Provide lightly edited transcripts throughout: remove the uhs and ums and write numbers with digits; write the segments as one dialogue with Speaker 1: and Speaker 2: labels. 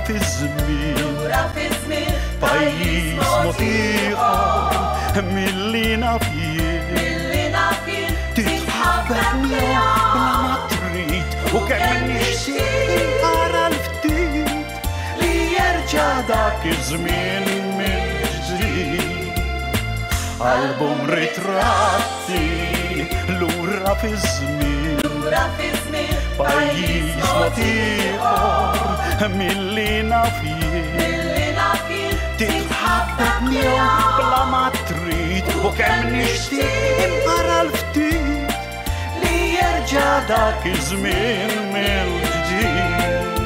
Speaker 1: fiż-żmien. Lura fiż-żmien. Pajjiż mod ieħor milli naf jien. Milli naf jien. Titħabbeb miegħu bla ma trid u kemm nixtieq inqara l-ftit li jerġa' dak iż-żmien mill-ġdid. Album ritratti lura fiż-żmien. Lura fiż-żmien. Pajjiż mod ieħor milli naf jien. Milli naf jien. Titħabbeb miegħu bla ma trid u kemm nixtieq imqara l-ftit li jerġa' dak iż-żmien mill-ġdid.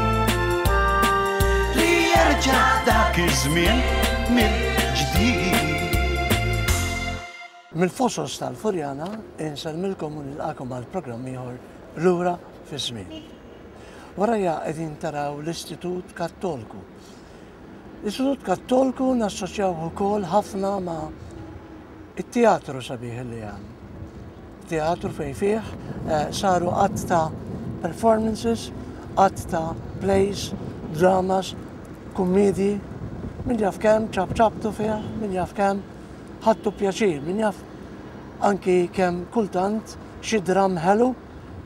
Speaker 1: Li jerġa' dak iż-żmien mill-ġdid.
Speaker 2: Mill-fosos tal-Furjana insellmilkom u nilqakom għal programm ieħor Lura fiż-żmien. Warajja qegħdin taraw l-Istitut Kattolku. L-Istitut Kattolku nassoċjaw ukoll ħafna ma' it-teatru sabiħ li hemm. Teatru fejn fih eh, saru qatt ta' performances, qatt ta' plays, dramas, kummedji, min jaf kemm ċapċaptu fih, min jaf kemm ħadtu pjaċir, min jaf anki kemm kultant xi dram ħelu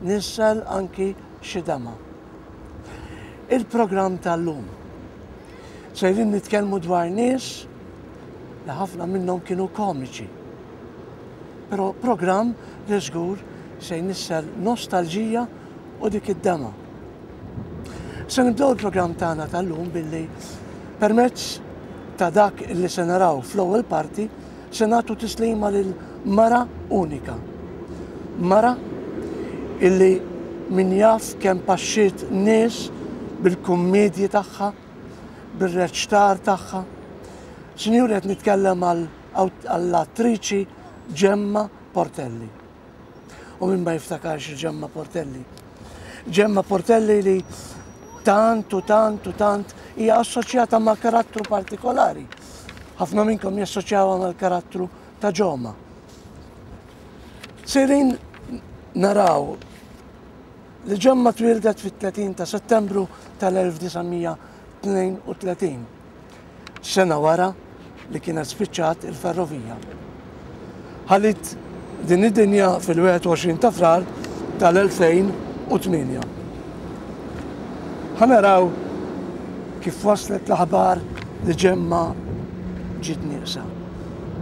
Speaker 2: nissel anki xi dema. Il-programm tal-lum. Sejrin nitkellmu dwar nies li ħafna minnhom kienu komiċi. Però programm li żgur se jnissel nostalġija u dik id-dema. Se nibdew il-programm tagħna tal-lum billi permezz ta' dak li se naraw fl-ewwel parti se nagħtu tislima lil mara unika. Mara illi min jaf kemm paxxiet nies bil-kummedji tagħha, bir-reċtar tagħha. Sinjuri qed nitkellem għall-attriċi Gemma Portelli. U min ma jiftakarx Ġemma Portelli. Ġemma Portelli li tant u tant u tant hija assoċjata ma' karattru partikolari. Ħafna minnkom jassoċjawha mal-karattru ta' Ġoma. Sejrin naraw li Ġemma twildet fit-30 ta' Settembru tal-1932. Sena wara li kienet spiċċat il-ferrovija. Ħalliet din id-dinja fil-21 ta' Frar tal-2008. Ħa naraw kif waslet l-aħbar li Ġemma ġiet nieqsa.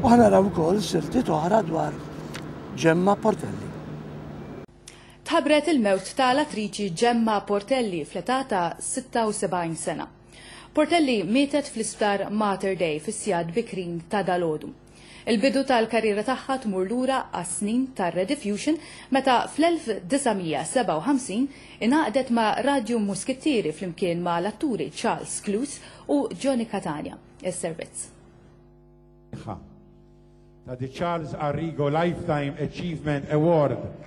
Speaker 2: U ħa naraw ukoll siltiet oħra dwar Ġemma Portelli.
Speaker 3: Tħabbret il-mewt ta' l-attriċi Gemma Portelli fl-età ta' 76 sena. Portelli mietet fl-Isptar Mater Dei fis-sigħat bikrin ta' dalgħodu. Il-bidu tal-karriera tagħha tmur lura għas-snin tar-Rediffusion meta fl-1957 ingħaqdet ma' Radju Muskittieri flimkien ma' l-atturi Charles Clews u Johnny Catania. Is-servizz.
Speaker 4: Ta' The Charles Arrigo Lifetime Achievement Award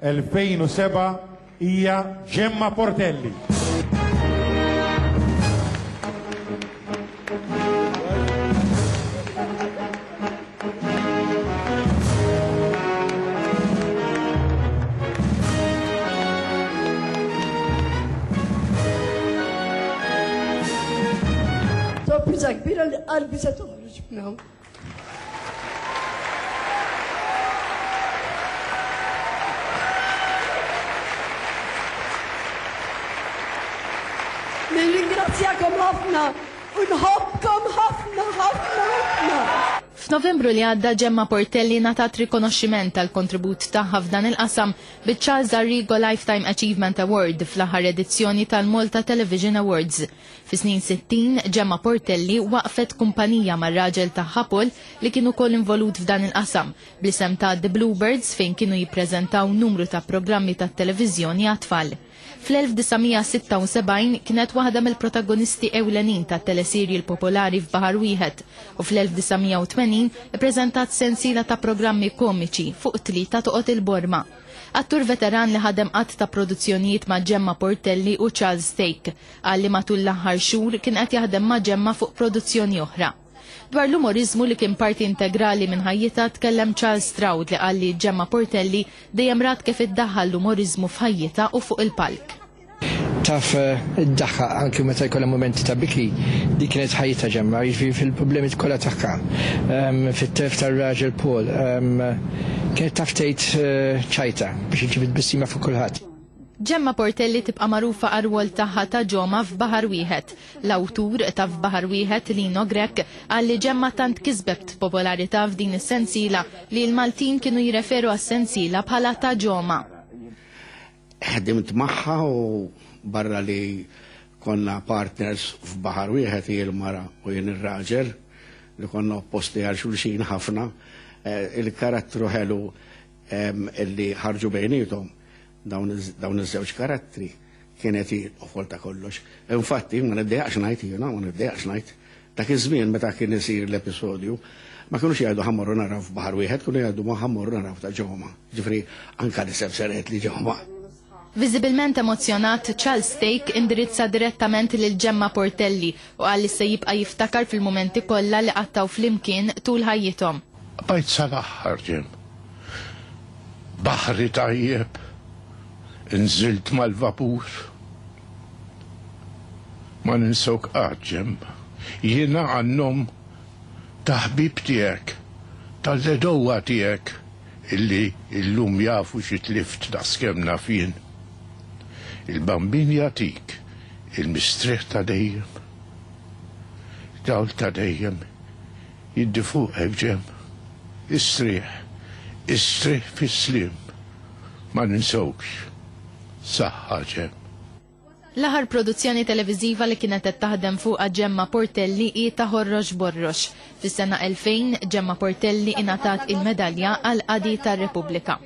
Speaker 4: 2007 hija Gemma Portelli.
Speaker 5: Sorpriża kbira li qalbi se toħroġ minn hawn. Nirringrazzjakom ħafna u nħobbkom ħafna ħafna ħafna.
Speaker 6: F'Novembru li għadda Gemma Portelli ngħatat rikonoxximent tal-kontribut tagħha f'dan il-qasam biċ-Charles Arrigo Lifetime Achievement Award fl-aħħar edizzjoni tal-Malta Television Awards. Fis-snin 60, Gemma Portelli waqqfet kumpanija mar-raġel tagħha Paul li kien ukoll involut f'dan il-qasam, bl-isem ta' The Bluebirds fejn kienu jippreżentaw numru ta' programmi tat-televiżjoni għat-tfal. Fl-1976 kienet waħda mill-protagonisti ewlenin tat-teleserial popolari F'Baħar Wieħed u fl-1980 ippreżentat sensiela ta' programmi komiċi fuq Tlieta Toqgħod il-Borma. Attur veteran li ħadem għadd ta' produzzjonijiet ma' Gemma Portelli u Charles Thake. Qal li matul l-aħħar xhur kien qed jaħdem ma' Gemma fuq produzzjoni oħra. Dwar l-umoriżmu li kien parti integrali minn ħajjitha tkellem Charles Stroud li qal li Gemma Portelli dejjem rat kif iddaħħal l-umoriżmu f'ħajjitha u fuq il-palk.
Speaker 7: Taf iddaħħaq anki meta jkollha mumenti ta' biki, dik kienet ħajjitha Ġemma, jiġifieri fil-problemi kollha tagħha, fit-telf tar-raġel Paul, kienet taf tgħid ċajta biex iġġib it-tbissima fuq kulħadd.
Speaker 6: Ġemma Portelli tibqa' magħrufa għar-rwol tagħha ta' Ġoma f'Baħar Wieħed. L-awtur ta' F'Baħar Wieħed, Lino Grech, qal li Ġemma tant kisbet popolarità f'din is-sensiela li l-Maltin kienu jirreferu għas-sensiela bħala ta' Ġoma.
Speaker 8: Ħdimt magħha u barra li konna partners f'baħar wieħed hi l-mara u jien ir-raġel li konna opposti għal xulxin ħafna, il-karattru ħelu li ħarġu bejniethom dawn iż-żewġ karattri kienet hi l-qofol ta' kollox. Infatti, ma niddejjaqx ngħid jiena, ma niddejjaqx ngħid, dak iż-żmien meta kien isir l-episodju, ma kinux jgħidu ħa mmorru naraw f'baħar wieħed, kienu jgħidu ma ħa mmorru naraw ta' Ġoma. Ġifieri anke l-isem seret li Ġoma.
Speaker 6: Viżibilment emozzjonat, Charles Thake indirizza direttament lil Gemma Portelli u qal li se jibqa' jiftakar fil-mumenti kollha li qattgħu flimkien tul ħajjithom.
Speaker 9: Bqajt sal-aħħar, Ġem. Baħri tajjeb, inżilt mal-vapur. Ma ninsewk qatt, Ġem. Jiena għan-nom ta' ħbieb tiegħek, tal-għedewwa tiegħek illi llum jafu xi tlift daqskemm naf jien. Il-Bambin jagħtik il-mistrieħ ta' dejjem. Dawl ta' dejjem jiddi fuqek, Ġem. Istrieħ, istrieħ fis-sliem. Ma ninsewkx. Saħħa, Ġem.
Speaker 6: L-aħħar produzzjoni televiżiva li kienet qed taħdem fuqha Gemma Portelli hi ta' Ħorrox Borrox. Fis-sena 2000, Gemma Portelli ingħatat il-Medalja għall-Qadi tar-Repubblika.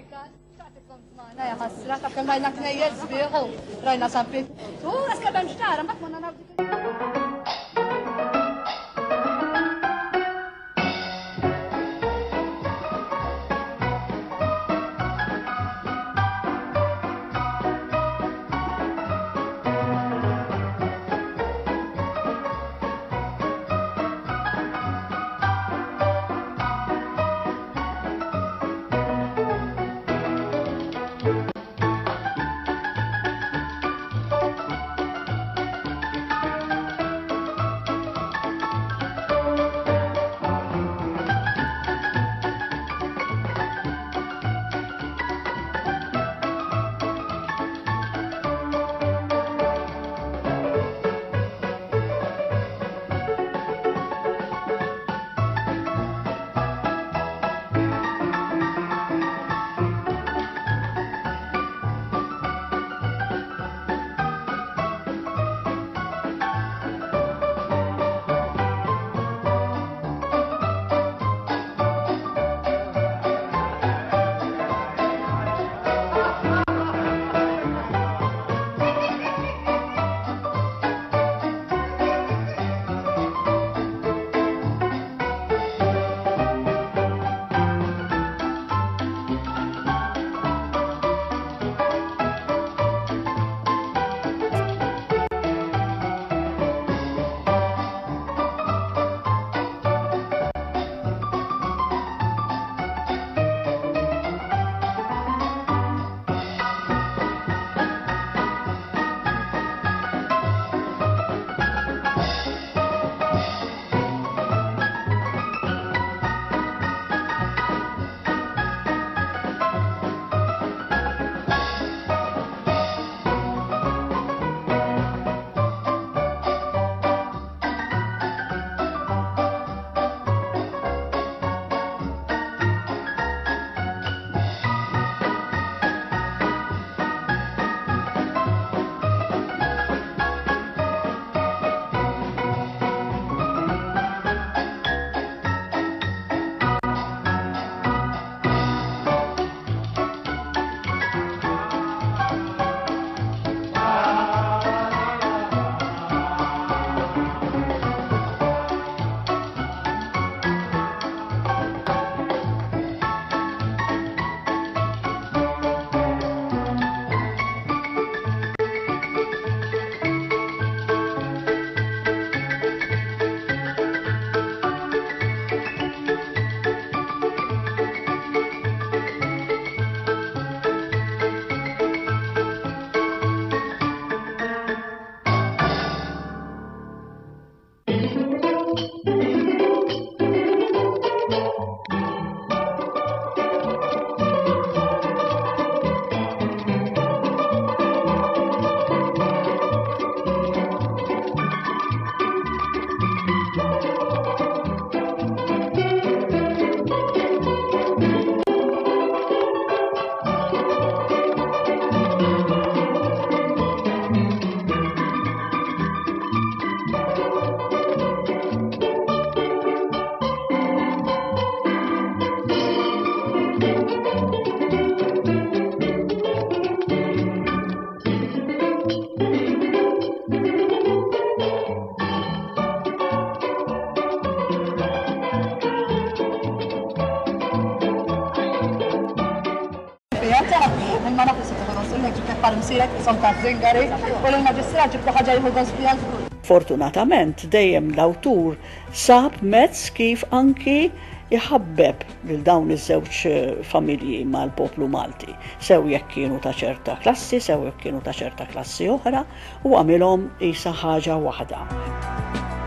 Speaker 10: bħal msierek qishom taż-żingari u lill-Maġistrat ġibtlu ħaġa jieħu gost biha żgur.
Speaker 11: Fortunatament dejjem l-awtur sab mezz kif anki jħabbeb lil dawn iż-żewġ familji mal-poplu Malti, sew jekk kienu ta' ċerta klassi, sew jekk kienu ta' ċerta klassi oħra, u għamilhom qisha ħaġa waħda.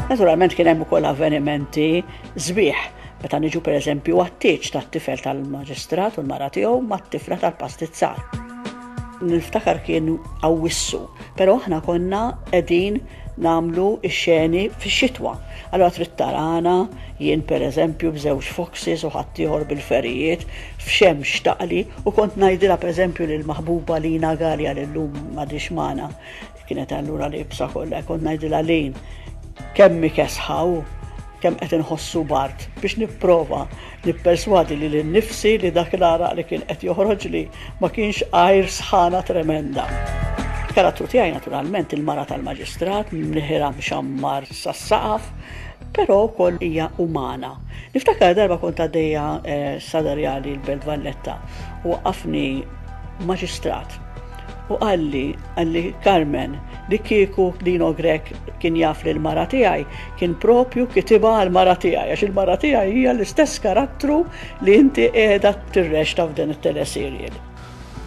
Speaker 11: Naturalment kien hemm ukoll avvenimenti sbieħ, meta niġu pereżempju għat-tieġ tat-tifel tal-maġistrat u l-mara tiegħu mat-tifla tal-pastizzar. Niftakar kien Awwissu, però aħna konna qegħdin nagħmlu x-xeni fix-xitwa. Allura trid tarana, jien pereżempju b'żewġ foxes u ħaddieħor bil-ferijiet, f'xemx taqli, u kont ngħidilha pereżempju lill-maħbuba Lina Galea li llum m'għadhiex magħna, kienet allura liebsa kollha, kont ngħidilha Lin, kemm hi kesħa u kemm qed inħossu bard biex nipprova nipperswadi lili nnifsi li dak l-għaraq li kien qed joħroġli ma kienx għajr sħana tremenda. Il-karattru tiegħi naturalment il-mara tal-maġistrat, mniħirha mxammar sas-saqaf, però wkoll hija umana. Niftakar darba kont għaddejja eh, Sada Rjali l-Belt Valletta u waqqafni maġistrat u qalli, qalli Carmen, li kieku Lino Grech kien jaf lil mara tiegħi, kien propju kitibha għal mara tiegħi, għax il-mara tiegħi hija l-istess karattru li inti qiegħda tirreċta f'dan it-teleserial.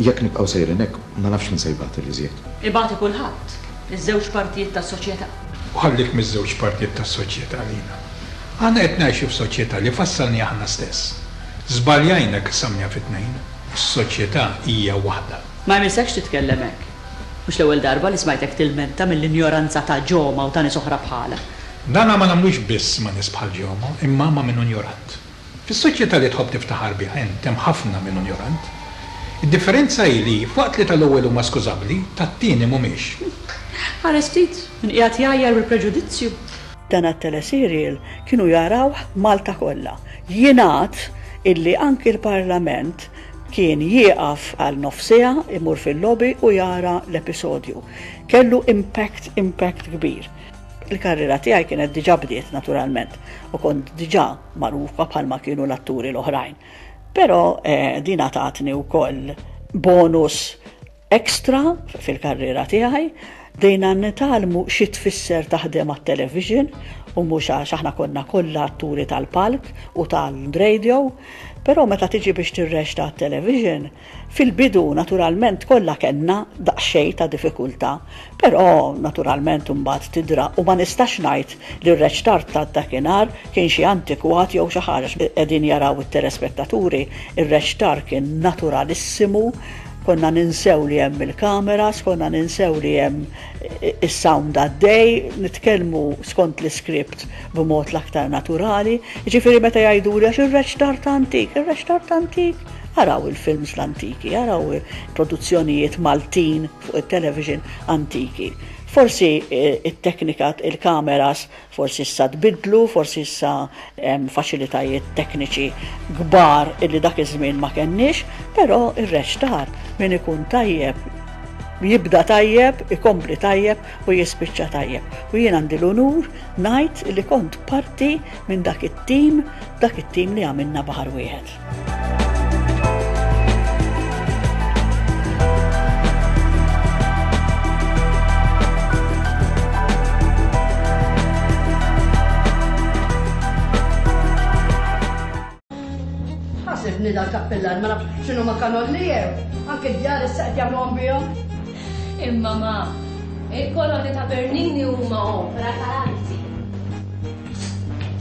Speaker 12: Jekk nibqgħu sejrin hekk, ma nafx min se jbati l-iżjed.
Speaker 13: Ibati kulħadd, iż-żewġ partijiet tas-soċjetà.
Speaker 14: U ħallik miż-żewġ partijiet tas-soċjetà, Lina. Aħna qed ngħixu f'soċjetà li fassalniha aħna stess. Żbaljajna qsamniha fi tnejn. Is-soċjetà hija waħda.
Speaker 13: Ma jmissekx titkellem hekk. Mhux l-ewwel darba li smajtek tilmenta mill-injoranza ta' Ġoma u ta' nies oħra bħalha.
Speaker 14: Dana ma nagħmlux biss ma' nies bħal Ġoma, imma ma' min hu njorant. Fis-soċjetà li tħobb tiftaħar biha int hemm ħafna min hu njorant. Id-differenza hi li, f'waqt li tal-ewwel huma skużabbli, tat-tieni mhumiex.
Speaker 13: Ħares ftit, min qiegħed jgħajjar bil-preġudizzju.
Speaker 11: Dan għat-teleserial kienu jarawh Malta kollha. Jingħad illi anki l-Parlament kien jieqaf għal nofs siegħa, imur fil-lobby u jara l-episodju. Kellu impact, impact kbir. Il-karriera tiegħi kienet diġà bdiet naturalment u kont diġà magħrufa bħalma kienu l-atturi l-oħrajn. Però eh, din tatni wkoll bonus extra fil-karriera tiegħi. Bdejna nitgħallmu xi tfisser taħdem għat-television u mhux għax aħna konna kollha atturi tal-palk u tal-radio, però meta tiġi biex tirreċta għat-television, Fil-bidu, naturalment, kollha kellna daqsxejn ta' diffikultà, però naturalment imbagħad tidra u ma nistax ngħid li r-reċtar ta' dakinhar kien xi antikwat jew xi ħaġa għax qegħdin jaraw it-telespettaturi, ir-reċtar kien naturalissimu, konna ninsew li hemm il-kameras, konna ninsew li hemm is-sound għaddej, nitkellmu skont l-iskript b'mod l-aktar naturali. Jiġifieri meta jgħiduli għax ir-reċtar ta' antik, ir-reċtar ta' antik, Araw il-films l-antiki, araw produzzjonijiet Maltin fuq it-television antiki. Forsi it-teknika, il-kameras, forsi issa tbiddlu, forsi issa hemm faċilitajiet tekniċi kbar illi dak iż-żmien ma kenniex, però ir-reċtar min ikun tajjeb jibda tajjeb, ikompli tajjeb u jispiċċa tajjeb. U jien għandi l-unur ngħid li kont parti minn dak it-tim, dak it-tim li għamilna Baħar Wieħed.
Speaker 5: Ħasibni dal-kappillan ma nafx x'inhu ma kanolli jew anke d-djar issa qed jagħmluhom bihom.
Speaker 15: Imma ma, il-kolonni ta' Bernini huma opra tal-arti.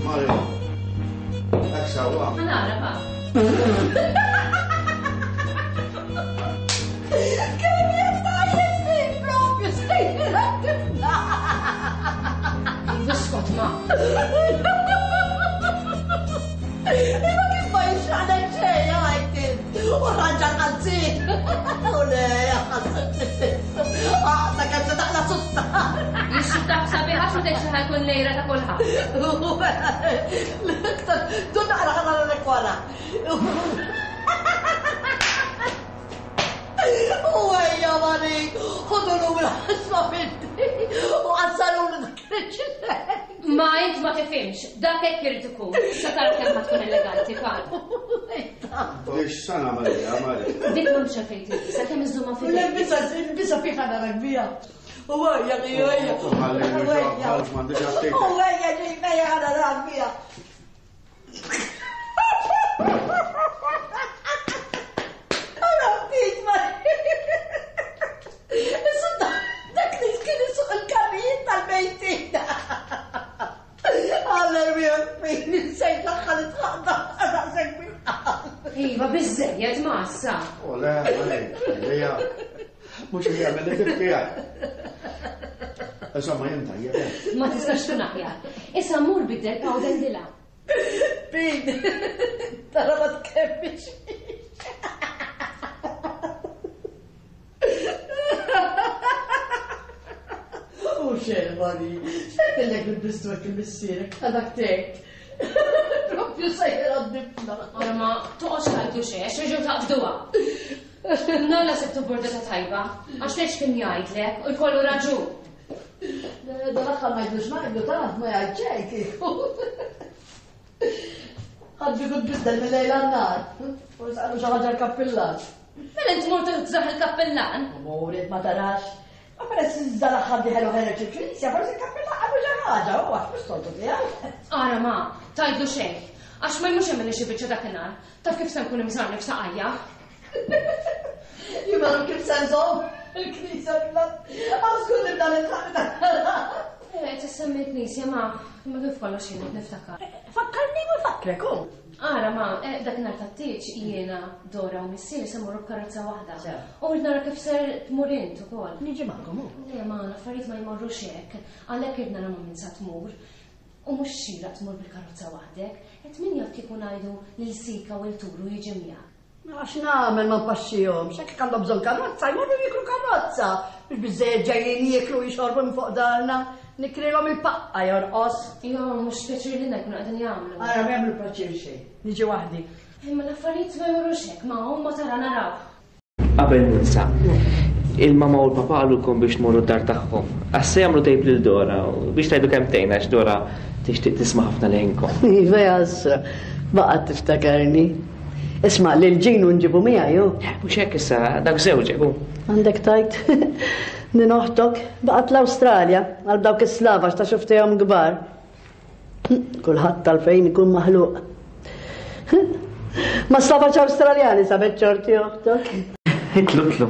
Speaker 8: Mario, hekk sewwa.
Speaker 15: Ħa nara pa.
Speaker 5: Kemm jien tajjeb fik propju sejra tifla.
Speaker 15: Iskot ma.
Speaker 5: Imma kif ma jixraqlek xejn għajt int u rranġa l-qalziet. U le, ħasseb Għaqda kemm se taqla' sutta.
Speaker 15: Jixxutak sabiħ għax ma tgħidx li ħa jkun lejra ta' kulħadd.
Speaker 5: L-iktar, dun naqra ħa nara wara. U ejja mari, ħodu lura ħasma fiddi u qassarulu dak il-ġilek.
Speaker 15: Ma int ma tifhimx, dak hekk irid ikun. Issa tara kemm ħa tkun eleganti, Karl.
Speaker 8: Biex sa nagħmel biha, Mari?
Speaker 15: Dik m'hemmx għalfejn tilbisha, kemm iżżommha f'idejk.
Speaker 5: Ilbisha, ilbisha fiha narak biha. U ejja, ejja, ejja.
Speaker 8: U ħallejni ġo, m'għandix aptit.
Speaker 5: U ejja, ġej, ejja, narak biha. Ara ftit ma. Dak li kien isuq il-karrijiet tal-mejtin. Għalla jwieħ insejt l-aħħar itħaqda daqshekk bil-qal.
Speaker 15: Iva, biżżejjed ma issa.
Speaker 8: U le, le, mhux li jagħmel li tibki Insomma, jien tajjeb. Eh.
Speaker 15: Ma tistax tkun aħjar. Issa mur biddel powder dilha.
Speaker 5: Pin, tara ma tkemmix. U xejn, Mari, xejn il-bistu għek il-missierek, għadak tek. Propju sejjer għad-difna.
Speaker 15: Ora ma toqgħodx tgħidu xejn, għax reġgħu taqbduha. Nalla sibtu burdata tajba, għax tgħidx kien jgħidlek u jkollu raġun.
Speaker 5: Dal-aħħar ma jgħidlux ngħidlu ta' ma jgħid xejn kieku. Ħadd kieku tbiddel mil-lejl għan-nhar. Forsi qalu xi ħaġa l-kappillan.
Speaker 15: Mela int mort tżaħ il-kappillan?
Speaker 5: Murid ma tarax. Ma peress iżda l-aħħar diħel u ħereġ il-knisja, forsi l-kappillan qalu xi ħaġa, u għax mhux soltu tiegħu.
Speaker 15: Ara ma, tgħidlu xejn. Għax ma jmurx jagħmilli xi biċċa dakinhar. Taf kif se nkun imżarni f'saqajja?
Speaker 5: Jien ma kif se nżomm il-knisja Għaw żgur nibda nitħaq
Speaker 15: Eh, tissemmi l-knisja ma, ma kif kollox jien niftakar.
Speaker 5: Fakkarni u nfakkrek hu.
Speaker 15: Ara ma, eh, dakinhar tat-tieġ jiena, Dora u missieri se mmorru b'karozza waħda. U rrid nara kif ser tmur int ukoll.
Speaker 5: Niġi magħkom hu.
Speaker 15: Le ma, l-affarijiet ma jmorrux hekk. Għalhekk irrid nara ma' min sa tmur. U mhux xieraq tmur bil-karozza waħdek. Qed min jaf kieku ngħidu lil Sika u 'l Turu jiġi miegħek.
Speaker 5: Mela x'nagħmel ma npaxxihomx, hekk għandhom bżonn karozza, jmorru jikru karozza. Mhux biżżejjed ġejjin jieklu u jixorbu minn fuq darna, nikrilhom il-paqqa jorqos.
Speaker 15: Iva ma mhux pjaċir lilna jkunu qegħdin jagħmlu.
Speaker 5: Ara ma jagħmlu pjaċir xejn, niġi waħdi.
Speaker 15: Imma l-affarijiet ma jmorrux hekk, ma huma tara naraw.
Speaker 16: Qabel ninsa, il-mama u l-papa qalulkom biex tmorru d-dar tagħhom. Għax se jagħmlu tejp lil Dora u biex tgħidu kelmtejn għax Dora tixtieq tisma' ħafna leħinkom.
Speaker 5: Iva jasra, baqgħet tiftakarni. Isma' lil Ġinu nġibu miegħi hu.
Speaker 16: Mhux hekk issa, dak żewġek hu.
Speaker 5: Għandek tajt. Din oħtok baqgħet l-Awstralja għal dawk is-slavax ta' xuftejhom kbar. Kulħadd tal-fejn ikun maħluq. Ma slavax Awstraljani sabet ċorti oħtok.
Speaker 16: Itlu, itlu.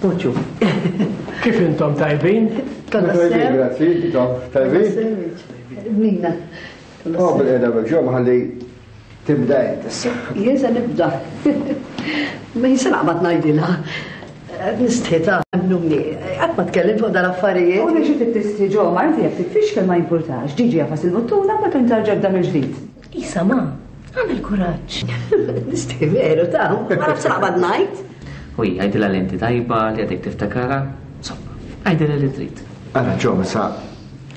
Speaker 5: Poċu.
Speaker 17: Kif intom tajbin?
Speaker 18: Tajbin, grazzi, intom tajbin?
Speaker 5: Nina.
Speaker 18: Oh, bil-qeda bil-ġo, ħalli Tibda int issa.
Speaker 5: Jien se nibda. Ma jien se naqbad ngħidilha. Nistħi ta' emmnuni. Qatt ma tkellimt fuq dal-affarijiet.
Speaker 19: U li xi tistħi ġo, ma inti jekk titfixkel ma jimpurtax. Ġiġi jafas il-buttuna ma tintarġa tibda mill-ġdid.
Speaker 15: Isa ma, agħmel kuraġġ.
Speaker 5: Nistħi veru ta' ma nafx se naqbad ngħid.
Speaker 16: U hi, għidilha li inti tajba, li għadek tiftakarha. Insomma, għidilha li trid.
Speaker 18: Ara ġo, issa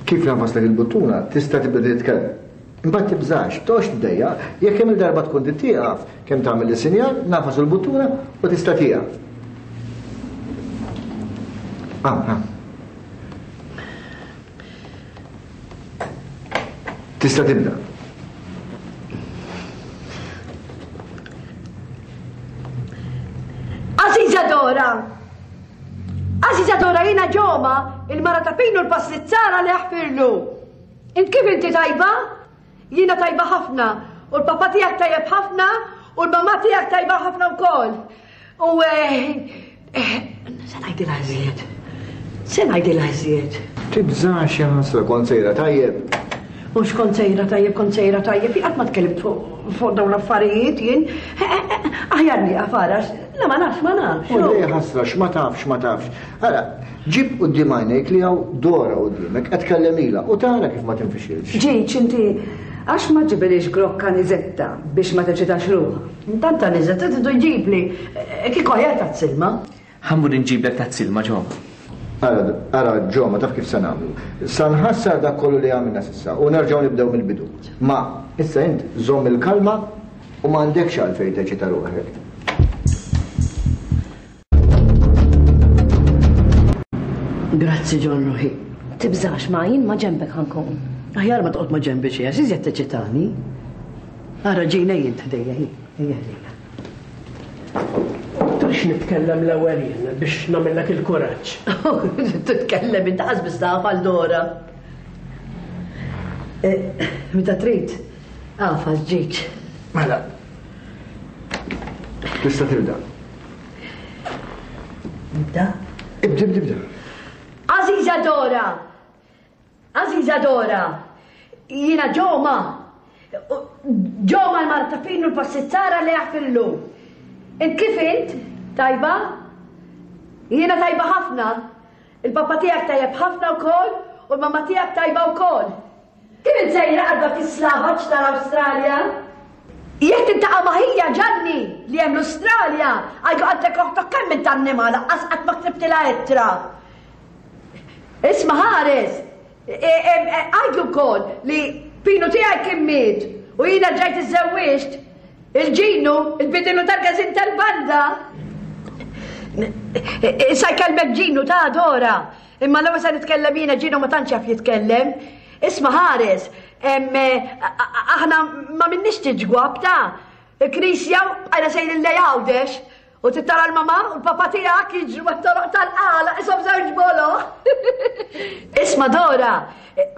Speaker 18: kif nafaslek il-buttuna tista' tibda titkellem. Imbagħad tibżax, toqgħodx tiddejjaq, jekk kemm-il darba tkun trid tieqaf, kemm tagħmel is-sinjal, nagħfas il-buttuna u tista' tieqaf. Hawn, hawn. Tista' tibda.
Speaker 5: Għażiża Dora! Għażiża Dora jiena Ġoma, il-mara ta' Pinu l-passizzara li ħfirlu. Int kif inti tajba? Jiena tajba ħafna. U l-papa tiegħek tajjeb ħafna u l-mamà tiegħek tajba ħafna wkoll. U eh, eh, se ngħidilha iżjed. Se ngħidilha iżjed.
Speaker 18: Tibżax ja ħasra kont sejra tajjeb.
Speaker 5: Mhux kont sejra tajjeb, kont sejra tajjeb, jien qatt ma tkellimt fuq dawn l-affarijiet jien. Eh, aħjar nieqaf ara, la ma nafx ma nafx.
Speaker 18: U lej ħasra x'ma tafx ma tafx. Ara, Ġib quddiem għajnejk li hawn Dora quddiemek, qed tkellemilha u tara kif ma tinfixilx.
Speaker 19: Ġiġ, inti għax ma ġġibilhiex grokka Niżetta biex ma teċitax ruħha?
Speaker 5: Intant ta' Niżetta tridu jġibli, kieku aħjar tazz ilma.
Speaker 16: Ħa mmur inġiblek tazz ilma, Ġoma.
Speaker 18: Ara, ara, Ġoma, taf kif se nagħmlu. Sa nħassar dak kollu li għamilna s'issa u nerġgħu nibdew mill-bidu. Ma, issa int żomm il-kalma u m'għandekx għalfejn teċita ruħek.
Speaker 5: Grazzi John Ruħi.
Speaker 15: Tibżax ma jien ma ġembek ħankun.
Speaker 5: Aħjar ma toqgħod ma ġembi xi għax iżjed teċitani. Ara ġina jien ħdejja hi, ejja ħdejja.
Speaker 17: Trix nitkellem l-ewwel jien biex nagħmillek il-kuraġġ.
Speaker 5: Titkellem inti qas biss taf għal Dora. Eh, meta trid, għafas ġiġ.
Speaker 18: Mela. Tista' tibda.
Speaker 5: Nibda?
Speaker 18: Ibda, ibda, ibda.
Speaker 5: Aziza Dora! Għażiża Dora, jiena Ġoma. Ġoma l-mara ta' Pinu l-passizzara li jaħfirlu. Int kif int? Tajba? Jiena tajba ħafna. Il-papa tiegħek tajjeb ħafna wkoll u l-mamma tiegħek tajba wkoll. Kif int sejra għal dak is-slavaġ tal-Awstralja? Jekk tiltaqa' ma' ħija Ġanni li hemm l-Awstralja, għajdu qaltlek oħtok kemm int annimal laqqas qatt ma ktibtilha ittra. Isma' ħares! Għidlu wkoll li Pinu tiegħi kien miet u jiena rġajt iżżewwiġt. Il-Ġinu, il-bidinu tal-każin tal-banda. Issa jkellmek Ġinu ta' Dora. Imma l-ewwel se nitkellem jiena Ġinu ma tantx jaf jitkellem. Isma' ħares, aħna ma minnix tiġgwab ta' il-knisja bqajna sejrin lejn Għawdex. U trid tara l-mamà u l-papà tiegħek jiġru mat-toroq tal-qala qishom żewġ boloh. Isma' Dora,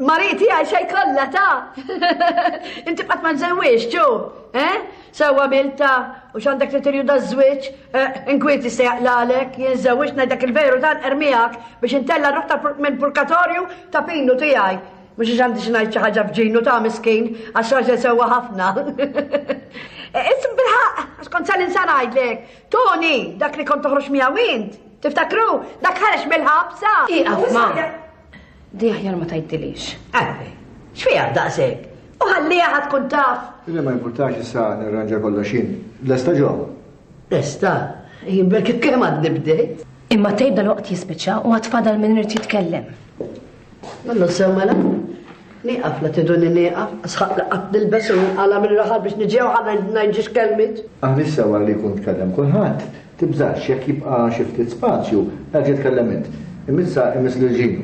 Speaker 5: Marie tiegħi se jkollha ta'. Inti qatt ma żewwiex, ġu, eh? Sewwa għamilta u x'għandek li tirjuda ż-żwieġ, eh, inkwiet jista' jaqlalek, jien żewwiġt ngħidlek il-veru dan ermiegħek biex intella' ruħ minn purkatorju ta' Pinu tiegħi. Mhux għax għandi xi ngħid xi ħaġa f'ġinu ta' miskin, għax raġel sewwa ħafna. Ism bilħaqq, għax kont sa ninsa ngħidlek. Tony, dak li kont toħroġ miegħu int, tiftakru, dak ħareġ mill-ħabsa.
Speaker 15: Ieqaf ma. Di aħjar ma tgħidilix.
Speaker 5: Għalfejn, x'fiha daqshekk? U ħalliha ħa tkun taf.
Speaker 18: Li ma jimpurtax issa nirranġa kollox jien. Lesta ġo?
Speaker 5: Lesta, jien belki kemm għadni bdejt.
Speaker 15: Imma tgħid dalwaqt jispiċċa u għad fadal min irid jitkellem.
Speaker 5: Mallu sew mela. Nieqaf la tiduni nieqaf, sħaq li qatt nilbes u nqala mill-raħal biex niġi hawn ħa ngħid kelmiet.
Speaker 18: Aħna issa wara li jkun tkellem kulħadd, tibżax jekk jibqa' xi ftit spazju, erġa' tkellem int. Imma issa imiss lil Ġinu.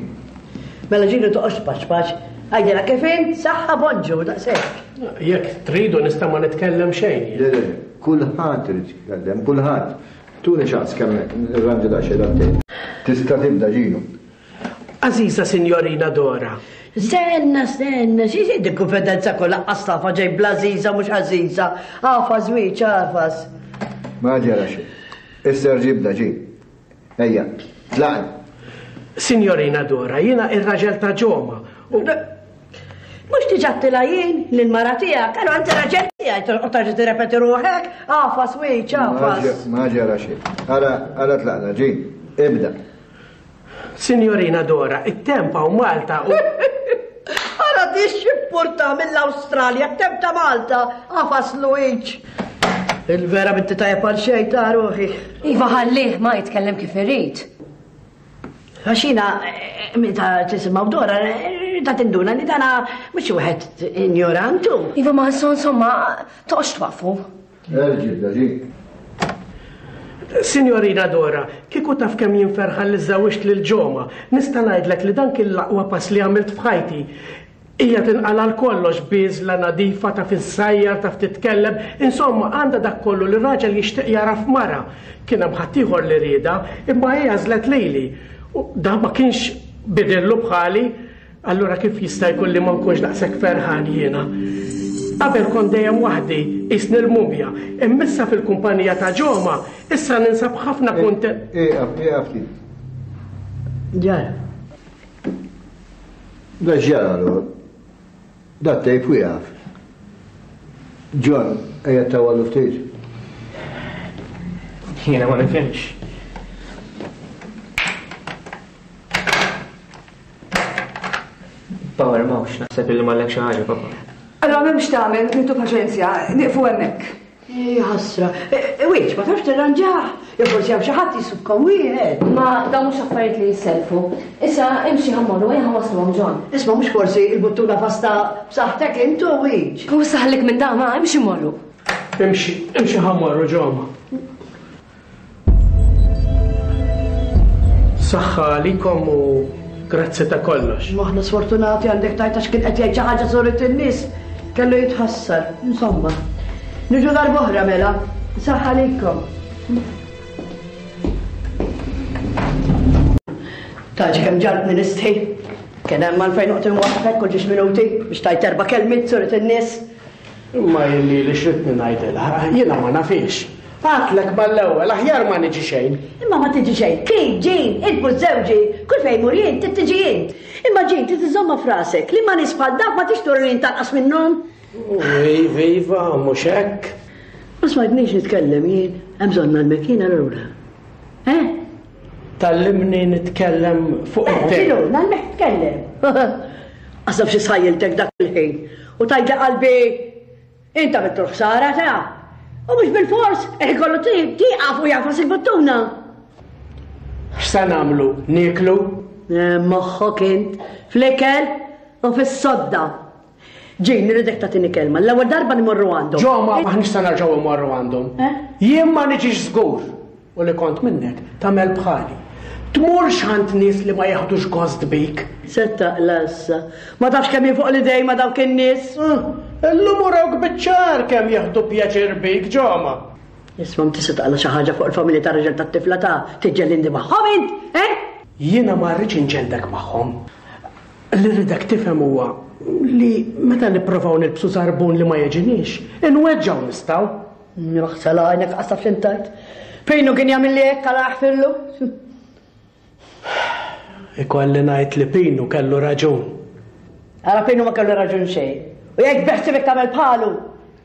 Speaker 5: Mela Ġinu toqgħodx tpaċpaċ, għidilha kif int, saħħa bonġu, daqshekk.
Speaker 17: Jekk tridu nista' ma nitkellem xejn
Speaker 18: jien. Le le, kulħadd irid jitkellem, kulħadd. Tuni ċans kemm nirranġa daqsxejn dat-tejp. Tista' tibda Ġinu.
Speaker 17: Għażiża Sinjorina Dora.
Speaker 5: Stenna, stenna, xi xi dik konfidenza kollha qas tafha ġej bl-għażiża mhux għażiża. Agħfas wiċċ, agħfas.
Speaker 18: Ma ġara xejn. Issa erġa' ibda, ġi. Ejja, tlaqna.
Speaker 17: Sinjorina Dora, jiena ir-raġel ta' Ġoma u.
Speaker 5: Mhux diġà għedtilha jien lill-mara tiegħek, allura inti raġel tiegħi torqod terġa' tirrepeti ruħek, agħfas wiċċ, agħfas.
Speaker 18: Ma ġara xejn. Ara, ara tlaqna, ġi. Ibda.
Speaker 17: Signorina Dora, it-temp hawn Malta u.
Speaker 5: Ara di x'ippurta mill-Awstralja, t-temp ta' Malta, għafas Luiġ. Il-vera binti tajjeb għal xejn ta' ruħi.
Speaker 15: Iva ħallih ma jitkellem kif irid.
Speaker 5: Għax jiena meta tisimgħu Dora, ta' tinduna li dana mhux wieħed injorantu.
Speaker 15: Iva ma insomma, toqgħodx twaqfu.
Speaker 18: Erġi, ġi.
Speaker 17: Signorina Dora, kieku taf kemm jien ferħan li żżewwiġt lil Ġoma, nista' ngħidlek li dan kien l-aqwa pass li għamilt f'ħajti. Hija tinqala' għal kollox, bieżla, nadifa, taf issajjar, taf titkellem, insomma għandha dak kollu li raġel jixtieq jara f'mara. Kien hemm ħaddieħor li riedha, imma hi għażlet lili. U dan ma kienx bidillu bħali. Allura kif jista' jkun li ma nkunx daqshekk ferħan jiena? Qabel kont dejjem waħdi, qisni l-mumja, imma issa fil-kumpanija ta' Ġoma, issa ninsab ħafna kuntent.
Speaker 18: Ieqaf, ieqaf ftit.
Speaker 5: Ġara.
Speaker 18: Da x'ġara allura? Da t-tejp wieqaf. John, ejja tawwalu ftit.
Speaker 16: Jiena ma nifhimx. Power m'hawnx, naħseb illi mallek xi ħaġa, papa.
Speaker 19: Allura m'hemmx tagħmel, nieħdu paċenzja, nieqfu hemmhekk.
Speaker 5: Ħasra. Wieċ, ma tafx tirranġah? Jew forsi hawn xi ħadd jisubkom wieħed.
Speaker 15: Ma dawn mhux affarijiet li jissellfu. Issa imxi ħa mmorru, ejja ħa wasluhom John.
Speaker 5: Isma' mhux forsi l-buttuna fasta b'saħħtek int u Wieċ.
Speaker 15: U issa ħallik minn dan, ma imxi mmorru.
Speaker 17: Imxi, imxi ħa mmorru Ġoma. Saħħa għalikom u grazzi ta' kollox.
Speaker 5: Imma aħna sfortunati għandek tgħid għax kien qed jgħid xi ħaġa suret in-nies. Kellu jitħassar. Insomma. Niġu darb'oħra mela. Saħħa għalikom. Taġi kemm ġartni nistħi. Kien hemm għalfejn noqgħod inwaqqfek kull ġiex minuti biex tajt erba' kelmiet suret in-nies.
Speaker 17: Imma jien lili x'ridni ngħidilha, jiena ma nafhiex. Għadtlek mal-ewwel, aħjar ma niġi xejn.
Speaker 5: Imma ma tiġi xejn. Kif, Jean, int mhux żewġi, kull fejn immur jien, trid tiġi int. Imma Jean, trid iżżommha f'rasek li ma' nies bħal dawk ma tridx turi li int anqas minnhom.
Speaker 17: Iva, iva, mhux hekk.
Speaker 5: Ma smajtnix nitkellem jien, hemm bżonn ngħallmek jien allura. Eh?
Speaker 17: Tgħallimni nitkellem fuq
Speaker 5: eh,
Speaker 17: it-tape.
Speaker 5: X'inhu, ngħallmek titkellem. Qas naf xi sħajjiltek dak il-ħin u tgħidli qalbi Int għamiltu l-ħsara ta' U mhux bil-fors, eh kollu tieqaf u jagħfas il-buttuna.
Speaker 17: X'se nagħmlu? Nieklu?
Speaker 5: Eh, moħħok int fl-ikel u fis-sodda. Ġin, nirridek tagħtini kelma. L-ewwel darba nimorru għandhom.
Speaker 17: Ġo, ma aħniex se nerġgħu mmorru għandhom.
Speaker 5: Eh?
Speaker 17: Jien ma niġix żgur. U li kont minnek, tagħmel bħali. Tmurx għand nies li ma jeħdux gost bik.
Speaker 5: Se taqla' issa. Ma tafx kemm jien fuq l-idejn ma' dawk in-nies.
Speaker 17: Illum urawk biċ-ċar kemm jieħdu pjaċir bik, Ġoma.
Speaker 5: Isma' m'tista' se taqla' xi ħaġa fuq il-familja tar-raġel tat-tifla ta' tiġġellindi magħhom int, eh?
Speaker 17: Jiena ma rridx inġelldek magħhom. Li rridek tifhem huwa li meta nipprovaw nilbsu żarbun li ma jiġiniex, inweġġgħu nistgħu.
Speaker 5: Jaħsel għajnek qas taf x'int tgħid. Pinu kien jagħmilli hekk għala jaħfirlu.
Speaker 17: Ikolli ngħid li Pinu kellu raġun.
Speaker 5: Ara Pinu ma kellu raġun xejn. U jekk beħsibek tagħmel bħalu,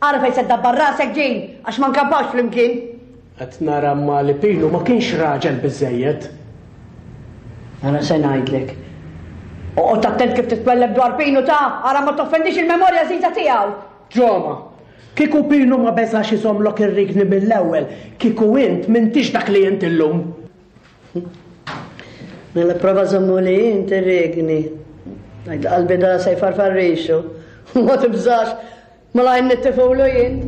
Speaker 5: ara fejn se ddabbar rasek ġin għax ma nkampawx flimkien.
Speaker 17: Qed nara ma li Pinu ma kienx raġel biżejjed.
Speaker 5: Ara se ngħidlek. Oqgħod attent kif titwelleb dwar Pinu ta' ara ma toffendix il-memorja żiża tiegħu.
Speaker 17: Ġoma, Kieku Pinu ma beżax iżommlok ir-rigni mill-ewwel, kieku int m'intix dak li int illum.
Speaker 5: Mela prova żommuli int ir-rigni. Ngħid qalbi da se jfarfar rixu. Ma tibżax, malajr nittifulu jien.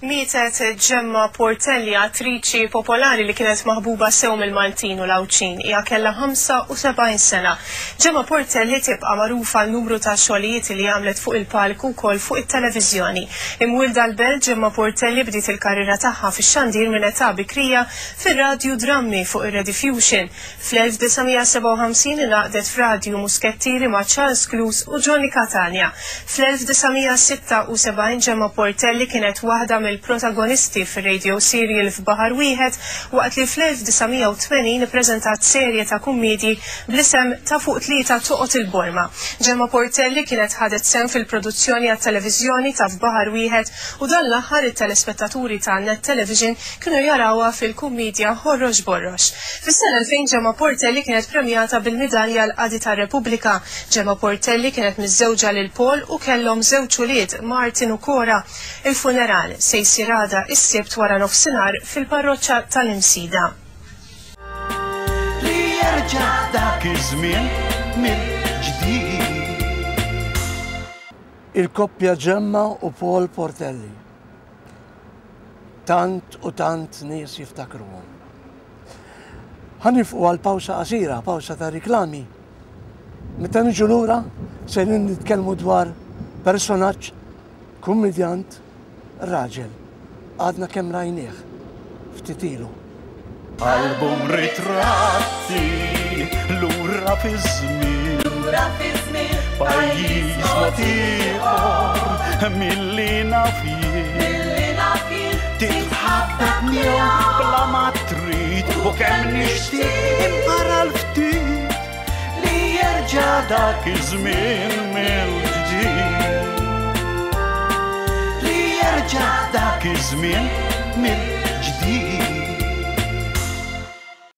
Speaker 20: Mietet Gemma Portelli, attriċi popolari li kienet maħbuba sew mill-Maltin u l-Għawdxin. Hija kellha 75 sena. Gemma Portelli tibqa' magħrufa għal numru ta' xogħlijiet li għamlet fuq il-palk u wkoll fuq it-televiżjoni. Imwielda l-Belt, Gemma Portelli bdiet il-karriera tagħha fix-xandir minn età bikrija fir-radju drammi fuq ir-Rediffusion. Fl-1957 ingħaqdet f'Radju Muskettieri ma' Charles Clews u Johnny Catania. Fl-1976 Gemma Portelli kienet waħda mill-protagonisti fir-radio serial F'Baħar Wieħed waqt li fl-1980 ippreżentat serje ta' kummiedji bl-isem Ta' Fuq Tlieta Toqgħod il-Borma. Gemma Portelli kienet ħadet sehem fil-produzzjoni għat-televiżjoni ta' F'Baħar Wieħed u dan l-aħħar it-telespettaturi ta' Net Television kienu jarawha fil-kummiedja Ħorrox Borrox. Fis-sena 2000 Gemma Portelli kienet premjata bil-Midalja għall-Qadi tar-Repubblika. Gemma Portelli kienet miżżewġa lil Paul u kellhom żewġ ulied, Martin u Cora. Il-funeral se jsir għada is-Sibt wara nofsinhar fil-Parroċċa tal-Imsida.
Speaker 1: Li jerġa' dak iż-żmien mill-ġdid.
Speaker 2: Il-koppja Gemma u Paul Portelli. Tant u tant nies jiftakruhom. Ħa nifqu għal pawsa qasira, pawsa ta' riklami. Meta niġu lura sejrin nitkellmu dwar personaġġ kummedjant raġel. Għadna kemm rajnieh ftit ilu.
Speaker 1: Album ritratti lura fiż-żmien.
Speaker 21: Lura fiż-żmien.
Speaker 1: Pajjiż mod ieħor milli naf jien.
Speaker 21: Milli naf jien.
Speaker 1: Titħabbeb miegħu bla ma trid u kemm nixtieq imqara l-ftit li jerġa' dak iż-żmien mill-ġdid. Li jerġa' dak iż-żmien mill-ġdid.